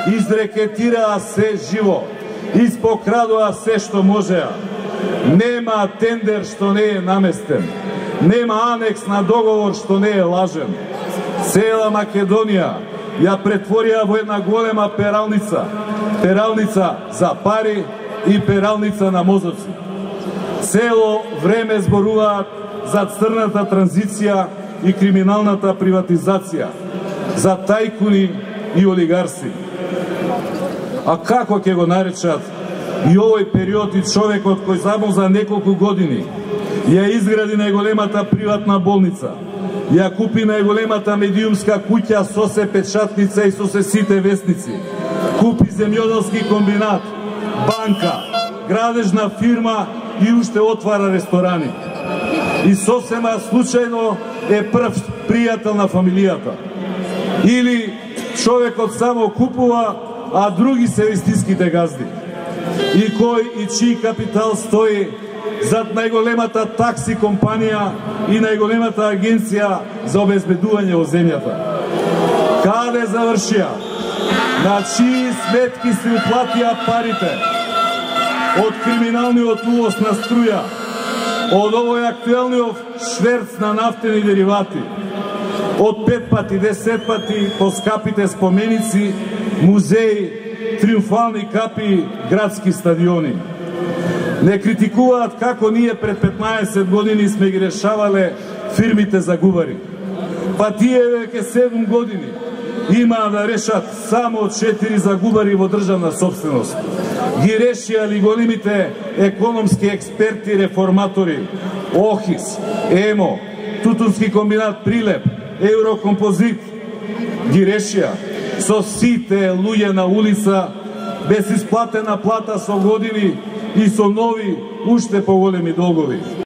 изрекетираа се живо, испокрадоа се што можеа. Нема тендер што не е наместен, нема анекс на договор што не е лажен. Цела Македонија ја претворија во една голема пералница, пералница за пари и пералница на мозоци. Цело време зборуваат за црната транзиција и криминалната приватизација, за тајкуни и олигарси. А како ќе го наречат и овој период и човекот кој само за неколку години ја изгради најголемата приватна болница, ја купи најголемата медиумска куќа со се печатница и со се сите весници, купи земјоделски комбинат, банка, градежна фирма и уште отвара ресторани. И сосема случајно е прв пријател на фамилијата. Или човекот само купува, а други се вистинските газди. И кој и чиј капитал стои зад најголемата такси компанија и најголемата агенција за обезбедување во земјата. Каде завршија? На чии сметки се уплатија парите? Од криминалниот увоз на струја, од овој актуелниот шверц на нафтени деривати, од 5 пати, 10 пати поскапите споменици, музеи, триумфални капи, градски стадиони. Не критикуваат како ние пред 15 години сме ги решавале фирмите за губари. Па тие веќе 7 години имаа да решат само 4 загубари во државна собственост. Ги решија ли големите економски експерти, реформатори, ОХИС, ЕМО, Тутунски комбинат Прилеп, Еврокомпозит, ги решија со сите луѓе на улица, без исплатена плата со години и со нови, уште поголеми долгови.